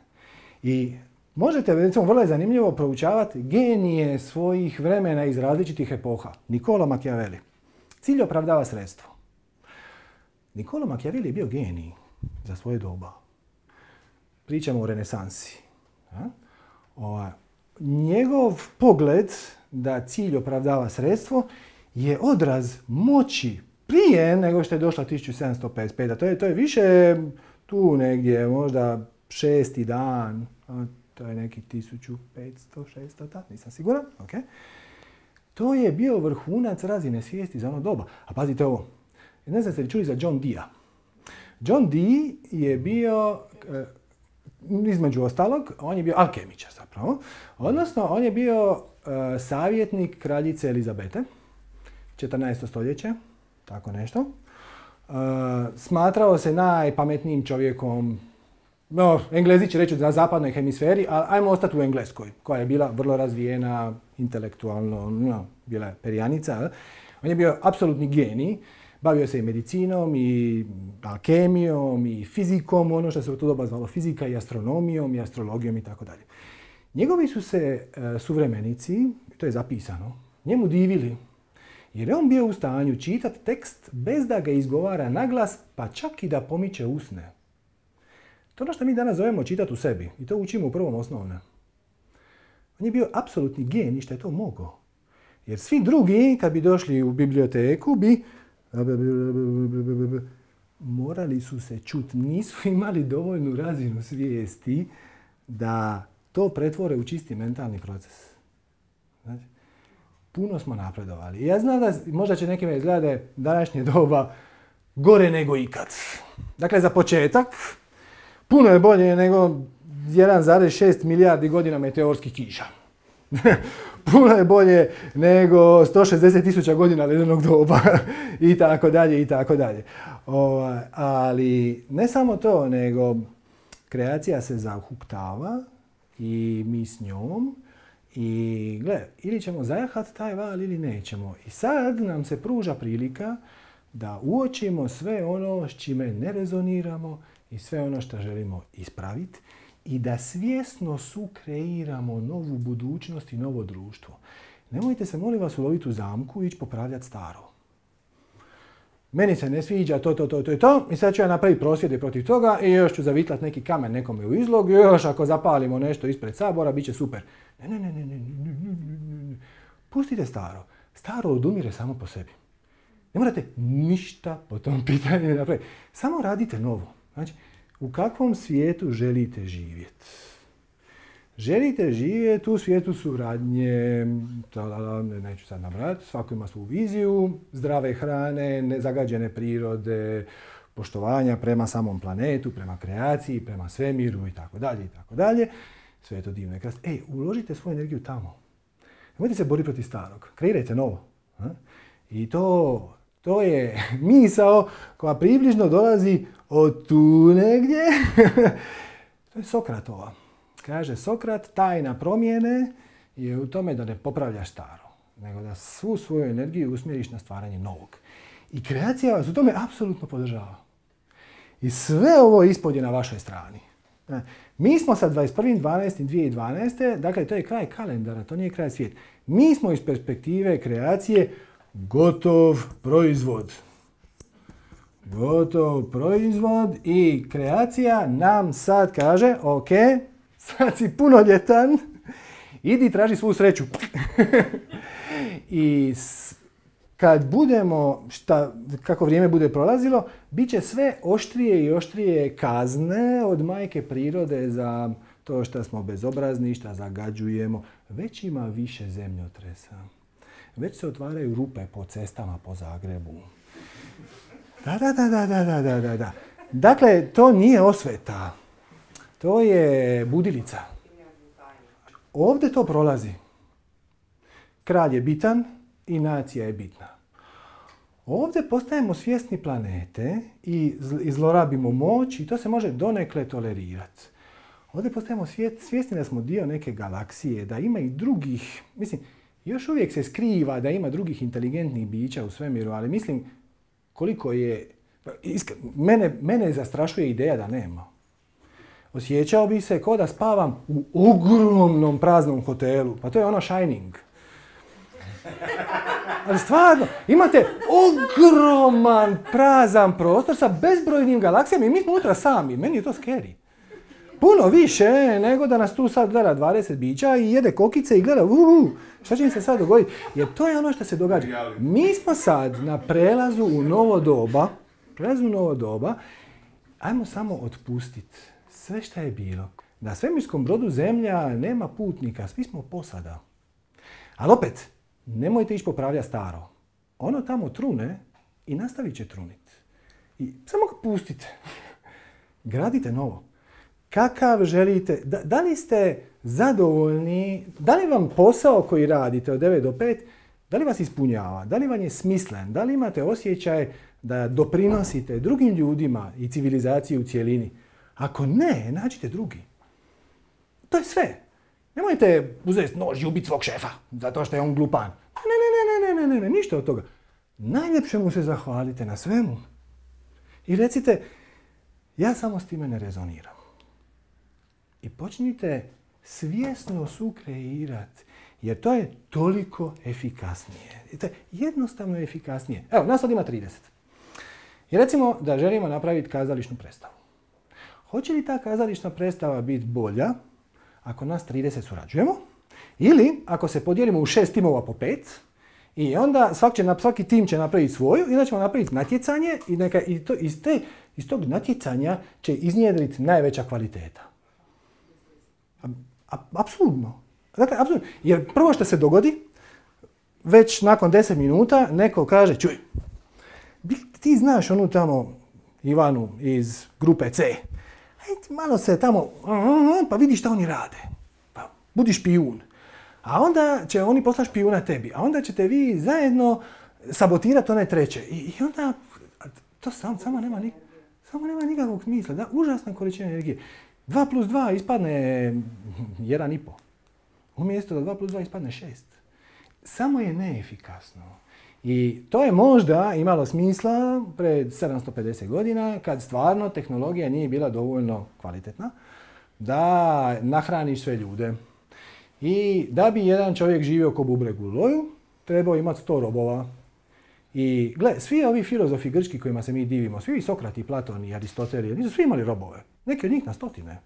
I možete, recimo, vrlo je zanimljivo proučavati genije svojih vremena iz različitih epoha. Niccolo Machiavelli. Cilj opravdava sredstvo. Niccolo Machiavelli je bio genij za svoje doba. Pričamo o renesansi. O, njegov pogled da cilj opravdava sredstvo je odraz moći prije nego što je došla tisuću sedamsto pedeset peta. To je, to je više tu negdje, možda šesti dan, to je neki tisuću petsto, šesto, tak, nisam siguran. Okay. To je bio vrhunac razine svijesti za ono doba. A pazite ovo, ne znam ste li čuli za John Dee-a. John Dee je bio, između ostalog, on je bio alkemičar zapravo, odnosno on je bio savjetnik kraljice Elizabete, četrnaesto stoljeće, tako nešto. Uh, smatrao se najpametnijim čovjekom, no, Englezi će reći na zapadnoj hemisferi, ali ajmo ostati u Engleskoj, koja je bila vrlo razvijena, intelektualno, no, bila je perjanica. On je bio apsolutni genij, bavio se i medicinom, i alkemijom, i fizikom, ono što se u to doba zvalo fizika, i astronomijom, i astrologijom i tako dalje. Njegovi su se uh, suvremenici, to je zapisano, njemu divili. Jer je on bio u stanju čitati tekst bez da ga izgovara naglas, pa čak i da pomiče usne. To je ono što mi danas zovemo čitati u sebi. I to učimo u prvom osnovne. On je bio apsolutni genij što je to mogao. Jer svi drugi, kad bi došli u biblioteku, bi morali su se čuti. Nisu imali dovoljnu razinu svijesti da to pretvore u čisti mentalni proces. Znači, puno smo napredovali. I ja znam da možda će nekima izgledati današnje doba gore nego ikad. Dakle, za početak, puno je bolje nego jedan zarez šest milijardi godina meteorskih kiša. Puno je bolje nego sto šezdeset tisuća godina ledenog doba i tako dalje i tako dalje. Ali ne samo to, nego kreacija se zahuktava i mi s njom. I gle, ili ćemo zajahati taj val ili nećemo. I sad nam se pruža prilika da uočimo sve ono s čime ne rezoniramo i sve ono što želimo ispraviti i da svjesno sukreiramo novu budućnost i novo društvo. Nemojte se, molim vas, uloviti u zamku i ići popravljati staro. Meni se ne sviđa to, to, to, to i to i sad ću ja napraviti prosvjede protiv toga i još ću zavitlat neki kamen nekome u izlog i još ako zapalimo nešto ispred Sabora, bit će super. Ne, ne, ne, ne, ne, ne, ne, ne. Pustite staro. Staro odumire samo po sebi. Ne morate ništa po tom pitanju napraviti. Samo radite novo. Znači, u kakvom svijetu želite živjeti? Želite živjeti u svijetu suradnje, neću sad nabrati, svako ima svoju viziju, zdrave hrane, nezagađene prirode, poštovanja prema samom planetu, prema kreaciji, prema svemiru i tako dalje i tako dalje. Sve je to divno i krasno. Ej, uložite svoju energiju tamo. Nemojte se boriti protiv starog. Kreirajte novo. I to, to je misao koja približno dolazi od tu negdje. To je Sokratova. Kaže Sokrat, tajna promjene je u tome da ne popravljaš staro, nego da svu svoju energiju usmjeriš na stvaranje novog. I kreacija vas u tome apsolutno podržava. I sve ovo ispod je na vašoj strani. Mi smo sa dvadeset prvi dvanaesti dvije tisuće dvanaeste. Dakle, to je kraj kalendara, to nije kraj svijeta. Mi smo iz perspektive kreacije gotov proizvod. Gotov proizvod i kreacija nam sad kaže, ok, sad si punoljetan, idi traži svu sreću. I kad budemo, šta, kako vrijeme bude prolazilo, bit će sve oštrije i oštrije kazne od majke prirode za to što smo bezobrazni, što zagađujemo. Već ima više zemljotresa. Već se otvaraju rupe po cestama po Zagrebu. Da, da, da, da, da, da, da, da. Dakle, to nije osveta. To je budilica. Ovdje to prolazi. Kralj je bitan i nacija je bitna. Ovdje postajemo svjesni planete i zlorabimo moć i to se može donekle tolerirati. Ovdje postajemo svjesni da smo dio neke galaksije, da ima i drugih, mislim, još uvijek se skriva da ima drugih inteligentnih bića u svemiru, ali mislim koliko je, mene, mene zastrašuje ideja da nema. Osjećao bi se kao da spavam u ogromnom praznom hotelu. Pa to je ono Shining. Ali stvarno, imate ogroman prazan prostor sa bezbrojnim galaksijama i mi smo unutra sami. Meni je to scary. Puno više nego da nas tu sad gleda dvadeset bića i jede kokice i gleda uuu, šta će im se sad dogoditi? Jer to je ono što se događa. Mi smo sad na prelazu u novo doba, prelazu u novo doba, ajmo samo otpustiti sve što je bilo. Na svemirskom brodu Zemlja nema putnika, svi smo posada. Ali opet, nemojte ići popravljati staro. Ono tamo trune i nastavit će truniti. I samo ga pustite. Gradite novo. Kakav želite, da, da li ste zadovoljni, da li vam posao koji radite od devet do pet, da li vas ispunjava, da li vam je smislen, da li imate osjećaj da doprinosite drugim ljudima i civilizaciji u cjelini. Ako ne, nađite drugi. To je sve. Nemojte uzeti nož i ubiti svog šefa, zato što je on glupan. Ne, ne, ne, ne, ne, ne, ne, ništa od toga. Najljepše mu se zahvalite na svemu. I recite, ja samo s time ne rezoniram. I počnite svjesno sukreirati, jer to je toliko efikasnije. To je jednostavno efikasnije. Evo, nas sad ima trideset. I recimo da želimo napraviti kazališnu predstavu. Hoće li ta kazališna predstava biti bolja ako nas trideset surađujemo? Ili ako se podijelimo u šest timova po pet i onda svaki, će, svaki tim će napraviti svoju i onda ćemo napraviti natjecanje i, neka, i to, iz, te, iz tog natjecanja će iznjedriti najveća kvaliteta. Apsolutno. Dakle, apsolutno. Jer prvo što se dogodi, već nakon deset minuta neko kaže, čuj, ti znaš onu tamo Ivanu iz grupe C. Ajde, malo se tamo, pa vidi šta oni rade. Pa budi špijun. A onda će oni poslati špijuna tebi. A onda ćete vi zajedno sabotirati one treće. I, i onda, to sam, samo, nema nik, samo nema nikakvog smisla. Da, užasna količina energije. dva plus dva ispadne jedan i pol. Umjesto da dva plus dva ispadne šest. Samo je neefikasno. I to je možda imalo smisla pred sedamsto pedeset godina kad stvarno tehnologija nije bila dovoljno kvalitetna da nahraniš sve ljude. I da bi jedan čovjek živio ko bubreg u loju, trebao imati sto robova. I gle, svi ovi filozofi grčki kojima se mi divimo, svi Sokrati, Platon i Aristotel, nisu svi imali robove. Neki od njih na stotine.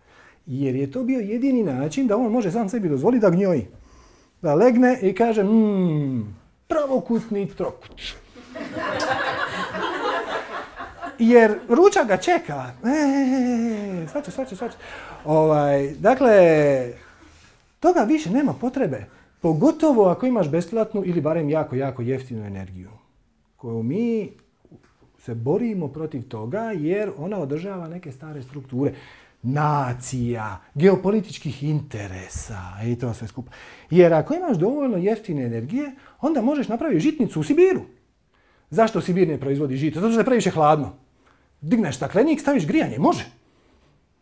Jer je to bio jedini način da on može sam sebi dozvoliti da gnjoji. Da legne i kaže, mmm, pravokutni trokut. Jer ručak ga čeka. Eee, svače, svače, svače. Ovaj, dakle, toga više nema potrebe. Pogotovo ako imaš besplatnu ili barem jako, jako jeftinu energiju. Koju mi se borimo protiv toga jer ona održava neke stare strukture. Nacija, geopolitičkih interesa i to sve skupa. Jer ako imaš dovoljno jeftine energije, onda možeš napraviti žitnicu u Sibiru. Zašto Sibir ne proizvodi žito? Zato što je previše hladno. Digneš staklenik, staviš grijanje, može.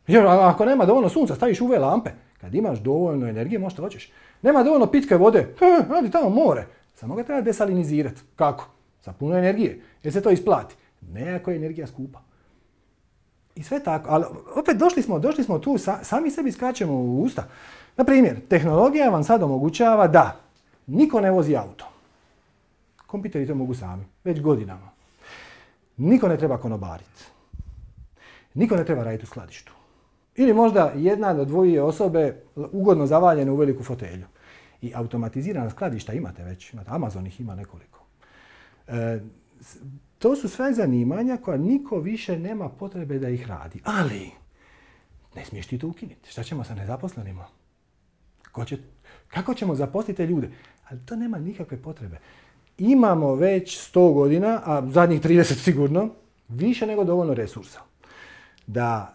Jer ako nema dovoljno sunca, staviš U V lampe. Kad imaš dovoljno energije, možeš što hoćeš. Nema dovoljno pitke vode, radi tamo more. Samo ga treba desalinizirati. Kako? Sa puno energije. Jer se to isplati. Ne ako je energija skupa. I sve tako. Ali opet došli smo, došli smo tu, sa, sami sebi skačemo u usta. Na primjer, tehnologija vam sad omogućava da niko ne vozi auto. Kompjuteri to mogu sami, već godinama. Niko ne treba konobariti. Niko ne treba raditi u skladištu. Ili možda jedna do dvoje osobe ugodno zavaljene u veliku fotelju. I automatizirana skladišta imate već, imate, Amazon ih ima nekoliko. E, to su sve zanimanja koja niko više nema potrebe da ih radi. Ali, ne smiješ ti to ukinuti. Šta ćemo sa nezaposlenima? Ko će, kako ćemo zaposliti te ljude? Ali to nema nikakve potrebe. Imamo već sto godina, a zadnjih trideset sigurno, više nego dovoljno resursa. Da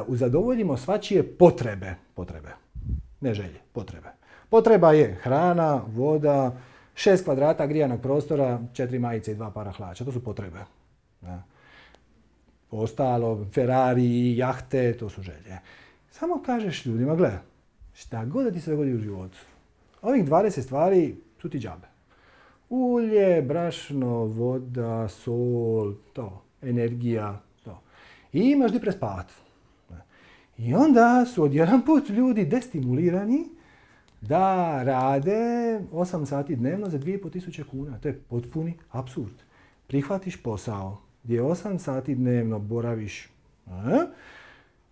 zadovoljimo svačije potrebe, potrebe, ne želje, potrebe. Potreba je hrana, voda, šest kvadrata grijanog prostora, četiri majice i dva para hlača. To su potrebe. Ja. Ostalo, Ferrari, jahte, to su želje. Samo kažeš ljudima, gle, šta god da ti se dogodi u životu, ovih dvadeset stvari su ti džabe. Ulje, brašno, voda, sol, to, energija, to. I imaš gdje prespavati. I onda su odjedan put ljudi destimulirani da rade osam sati dnevno za dvije i pol tisuće kuna. To je potpuni apsurd. Prihvatiš posao gdje osam sati dnevno boraviš, a?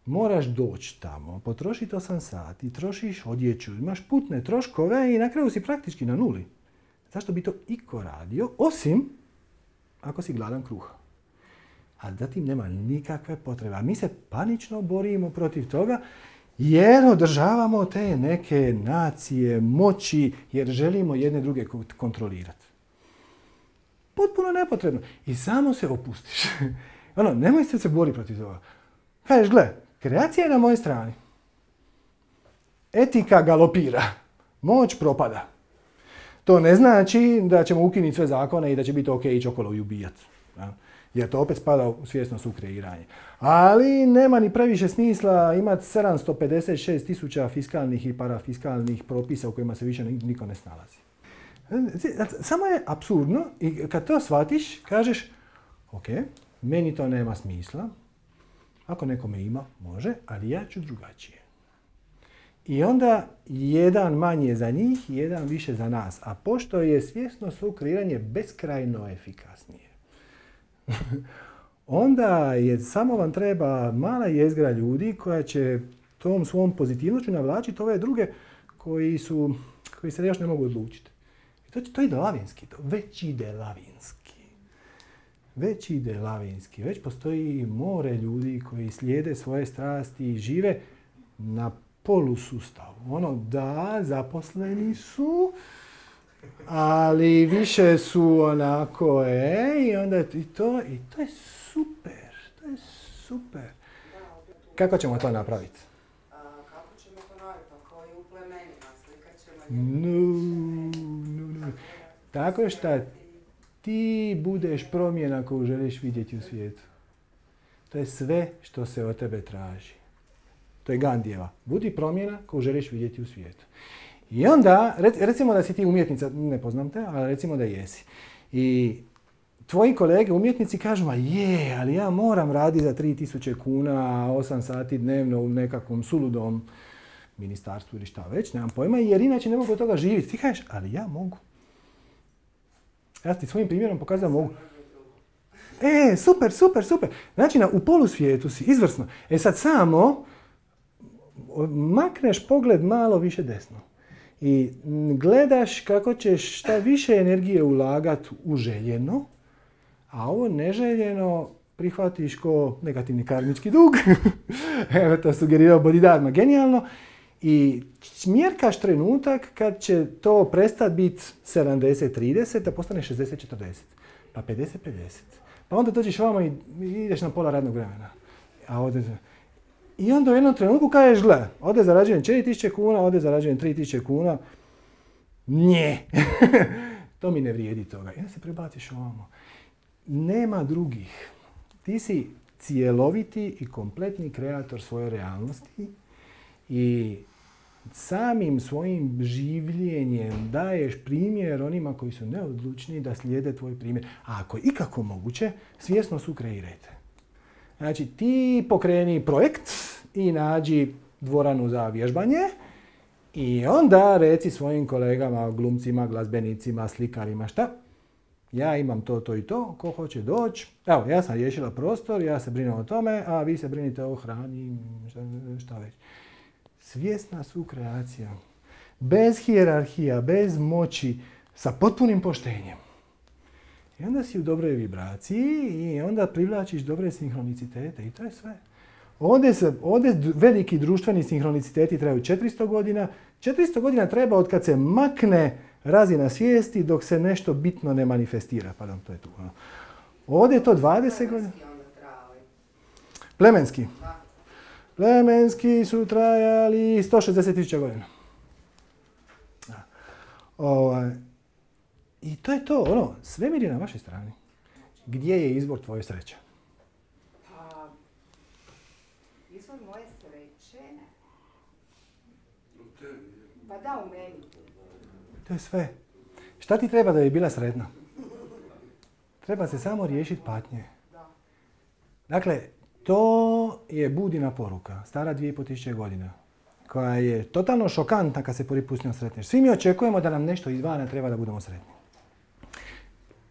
Moraš doći tamo, potrošiti osam sati, trošiš odjeću, imaš putne troškove i na kraju si praktički na nuli. Zašto bi to iko radio, osim ako si gladan kruha? A zatim nema nikakve potrebe. A mi se panično borimo protiv toga jer održavamo te neke nacije, moći, jer želimo jedne druge kontrolirati. Potpuno nepotrebno. I samo se opustiš. Ono, nemoj se se boriti protiv toga. Kažeš, gle, kreacija je na mojoj strani. Etika galopira. Moć propada. To ne znači da ćemo ukinuti sve zakone i da će biti ok ići okolo i ubijati. Ja? Jer to opet spada u svjesno sukreiranje. Ali nema ni previše smisla imati sedamsto pedeset šest tisuća fiskalnih i parafiskalnih propisa u kojima se više niko ne snalazi. Samo je apsurdno i kad to shvatiš, kažeš, ok, meni to nema smisla, ako nekome ima, može, ali ja ću drugačije. I onda jedan manje za njih, jedan više za nas. A pošto je svjesno sukreiranje beskrajno efikasnije, onda je, samo vam treba mala jezgra ljudi koja će tom svom pozitivnošću navlačiti ove druge koji, su, koji se još ne mogu odlučiti. I to, to ide lavinski, to već ide lavinski. Već ide lavinski. Već postoji more ljudi koji slijede svoje strasti i žive na polusustavu. Ono, da, zaposleni su, ali više su onako, e, i onda i to, i to je super, to je super. Kako ćemo to napraviti? A, kako ćemo to napraviti? Pa kao i u plemenima, slikat ćemo No, no, no. Tako što ti budeš promjena koju želiš vidjeti u svijetu. To je sve što se od tebe traži. To je Gandijeva. Budi promjena koju želiš vidjeti u svijetu. I onda, recimo da si ti umjetnica, ne poznam te, ali recimo da jesi. I tvoji kolege umjetnici kažu, ma je, ali ja moram raditi za tri tisuće kuna, osam sati dnevno u nekakvom suludom ministarstvu ili šta već, nemam pojma, jer inače ne mogu od toga živjeti. Ti kažeš, ali ja mogu. Ja ti svojim primjerom pokazujem mogu. E, super, super, super. Znači, na, u polusvijetu si, izvrsno. E sad samo makneš pogled malo više desno. I gledaš kako ćeš šta više energije ulagati u željeno, a ovo neželjeno prihvatiš ko negativni karmički dug. Evo to sugerirao Bodhidharma. Genijalno. I mjerkaš trenutak kad će to prestati biti sedamdeset trideset, da postane šezdeset četrdeset. Pa pedeset pedeset. Pa onda dođeš vamo i ideš na pola radnog vremena. A ovdje... I onda u jednom trenutku kažeš, gle, ovdje zarađujem četiri tisuće kuna, ovdje zarađujem tri tisuće kuna. Nje. To mi ne vrijedi toga. I onda se prebaciš ovamo. Nema drugih. Ti si cijeloviti i kompletni kreator svoje realnosti i samim svojim življenjem daješ primjer onima koji su neodlučni da slijede tvoj primjer. A ako je ikako moguće, svjesno sukreirajte. Znači, ti pokreni projekt i nađi dvoranu za vježbanje i onda reci svojim kolegama, glumcima, glazbenicima, slikarima, šta? Ja imam to, to i to, ko hoće doći. Evo, ja sam riješila prostor, ja se brinem o tome, a vi se brinite o hrani, šta, šta već. Svjesna sukreacija. Bez hijerarhija, bez moći, sa potpunim poštenjem. I onda si u dobroj vibraciji i onda privlačiš dobre sinhronicitete i to je sve. Ovdje, se, ovdje veliki društveni sinhroniciteti traju četiristo godina. četiristo godina treba od kad se makne razina svijesti dok se nešto bitno ne manifestira. Pardon, to je tu. Ovdje je to dvadeset godina. Plemenski. Plemenski su trajali sto šezdeset tisuća godina. Ovaj. I to je to, ono, svemir je na vašoj strani. Gdje je izvor tvoje sreće? Pa, izvor moje sreće? Pa da, u meni. To je sve. Šta ti treba da bi bila sretna? Treba se samo riješiti patnje. Dakle, to je Budina poruka, stara dvije i pol tisuće godina, koja je totalno šokantna kad se prvi put s njom sretneš. Svi mi očekujemo da nam nešto izvana treba da budemo sretni.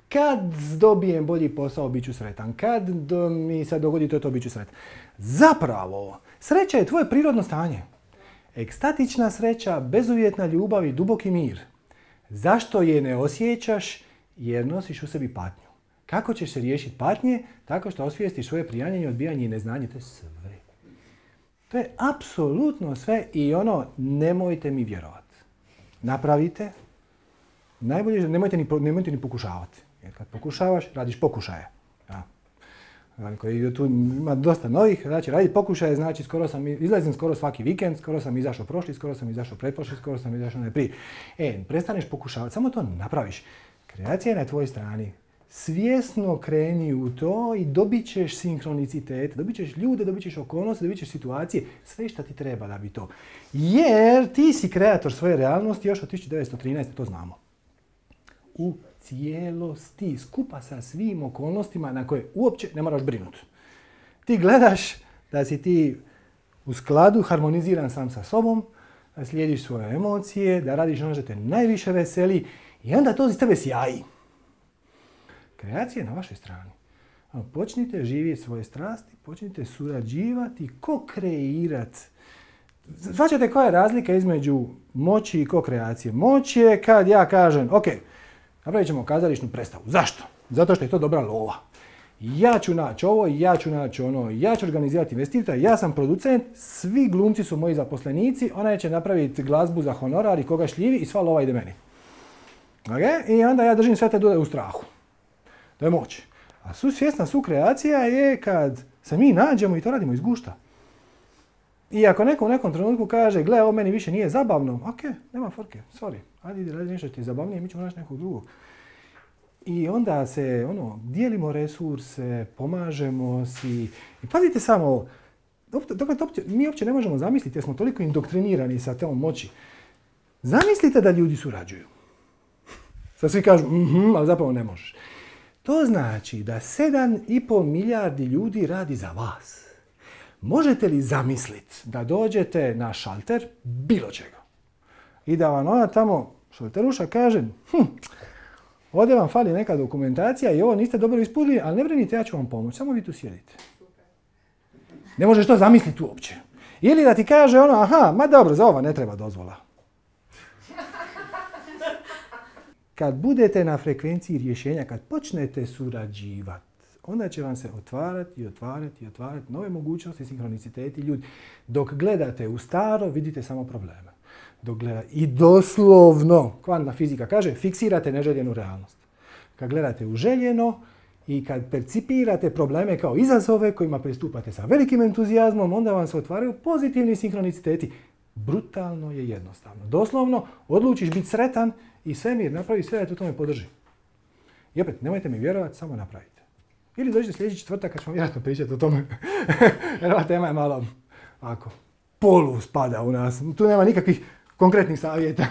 Kad dobijem bolji posao, bit ću sretan. Kad do, mi se dogodi to, to bit ću sretan. Zapravo, sreća je tvoje prirodno stanje. Ekstatična sreća, bezuvjetna ljubav i duboki mir. Zašto je ne osjećaš? Jer nosiš u sebi patnju. Kako ćeš se riješiti patnje? Tako što osvijestiš svoje prijanjanje, odbijanje i neznanje. To je sve. To je apsolutno sve i ono, nemojte mi vjerovati. Napravite. Najbolje, nemojte ni, nemojte ni pokušavati. Jer kad pokušavaš, radiš pokušaje. Ja. Tu ima dosta novih, znači raditi pokušaje, znači skoro sam, izlazim skoro svaki vikend, skoro sam izašao prošli, skoro sam izašao pretprošli, skoro sam izašao najprije. E, prestaneš pokušavati, samo to napraviš. Kreacija je na tvojoj strani. Svjesno kreni u to i dobit ćeš sinhronicitet, dobit ćeš ljude, dobit ćeš okolnosti, dobit ćeš situacije, sve što ti treba da bi to. Jer ti si kreator svoje realnosti još od tisuću devetsto trinaeste. to znamo. U cijelosti, skupa sa svim okolnostima na koje uopće ne moraš brinuti. Ti gledaš da si ti u skladu, harmoniziran sam sa sobom, da slijediš svoje emocije, da radiš ono što te najviše veseli i onda to iz tebe sjaji. Kreacija je na vašoj strani. Počnite živjeti svoje strasti, počnite surađivati, ko-kreirati. Svaćate koja je razlika između moći i ko-kreacije? Moć je kad ja kažem, ok, napravit ćemo kazališnu predstavu. Zašto? Zato što je to dobra lova. Ja ću naći ovo, ja ću naći ono, ja ću organizirati investitora, ja sam producent, svi glumci su moji zaposlenici, ona će napraviti glazbu za honorar i koga šljivi i sva lova ide meni. Okay? I onda ja držim sve te ljude u strahu. To je moć. A svjesna sukreacija je kad se mi nađemo i to radimo iz gušta. I ako neko u nekom trenutku kaže, gle, ovo meni više nije zabavno, ok, nema forke, sorry, ajde ide radi nešto što ti je zabavnije, mi ćemo naći nekog drugog. I onda se, ono, dijelimo resurse, pomažemo si. I pazite samo, dakle, mi uopće ne možemo zamisliti jer smo toliko indoktrinirani sa tom moći. Zamislite da ljudi surađuju. Sad svi kažu, mhm, ali zapravo ne možeš. To znači da sedam i pol milijardi ljudi radi za vas. Možete li zamisliti da dođete na šalter bilo čega i da vam ona tamo šalteruša kaže, hm, ovdje vam fali neka dokumentacija i ovo niste dobro ispunili, ali ne brinite, ja ću vam pomoći, samo vi tu sjedite. Ne možeš to zamisliti uopće. Ili da ti kaže ono, aha, ma dobro, za ovo ne treba dozvola. Kad budete na frekvenciji rješenja, kad počnete surađivati, onda će vam se otvarati i otvarati i otvarati nove mogućnosti, sinhroniciteti ljudi. Dok gledate u staro, vidite samo probleme. Dok gleda... I doslovno, kvantna fizika kaže, fiksirate neželjenu realnost. Kad gledate u željeno i kad percipirate probleme kao izazove kojima pristupate sa velikim entuzijazmom, onda vam se otvaraju pozitivni sinhroniciteti. Brutalno je jednostavno. Doslovno, odlučiš biti sretan i svemir napravi sve da te u tome podrži. I opet, nemojte mi vjerovati, samo napravite. Ili dođite sljedeći četvrtak kad ćemo vjerojatno pričati o tome. Jer ova tema je malo ovako, polu spada u nas. Tu nema nikakvih konkretnih savjeta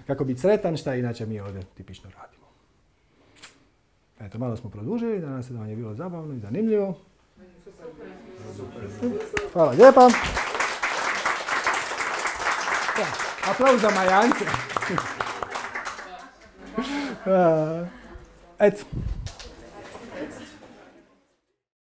kako biti sretan, šta inače mi ovdje tipično radimo. Eto, malo smo produžili, danas se da vam je bilo zabavno i zanimljivo. Hvala lijepa. Ja, aplauz za Majance. Eto.